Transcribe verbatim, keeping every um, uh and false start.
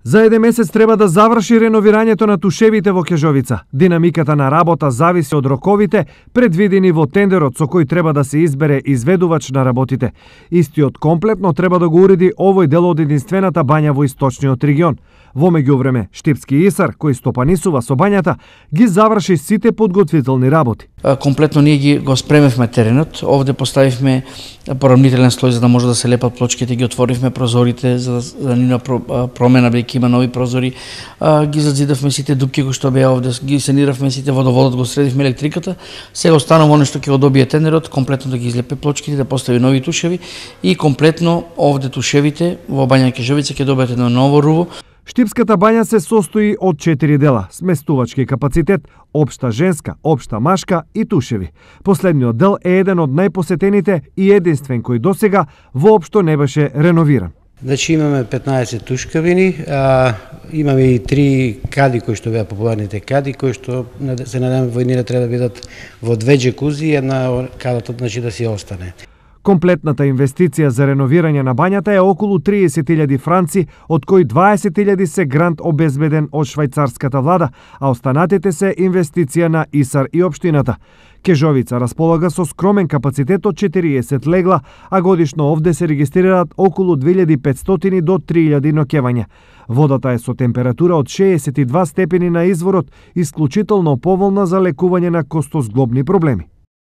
За еден месец треба да заврши реновирањето на тушевите во Кежовица. Динамиката на работа зависи од роковите предвидени во тендерот со кој треба да се избере изведувач на работите. Истиот комплетно треба да го уреди овој дел од единствената бања во источниот регион. Во меѓувреме, Штипски ИСАР, кој стопанисува со бањата, ги заврши сите подготвителни работи. Комплетно ние ги го спремевме теренот. Овде поставивме порамнителен слој за да може да се лепат плочките, ги отворивме прозорите за да нема промена, бидејќи има нови прозори. Ги зазидавме сите дупки кои што беа овде, ги саниравме сите, водоводот го средивме, електриката. Сега останува оно што ќе го добие тендерот, комплетно да ги излепе плочките, да постави нови тушеви и комплетно овде тушевите во бања Кежовица ќе добијат едно ново руво. Штипската бања се состои од четири дела: сместувачки капацитет, општа женска, општа машка и тушеви. Последниот дел е еден од најпосетените и единствен кој досега воопшто не беше реновиран. Значи имаме петнаесет тушкавини, а, имаме и три кади кои што беа популарните кади, кои што се надеваме војнира треба да бидат во две джекузи и една кадата значи да си остане. Комплетната инвестиција за реновирање на бањата е околу триесет илјади франци, од кои дваесет илјади се грант обезбеден од швајцарската влада, а останатите се инвестиција на ИСАР и општината. Кежовица располага со скромен капацитет од четириесет легла, а годишно овде се регистрираат околу две илјади и петстотини до три илјади ноќевања. Водата е со температура од шеесет и два степени на изворот, исклучително поволна за лекување на костозглобни проблеми.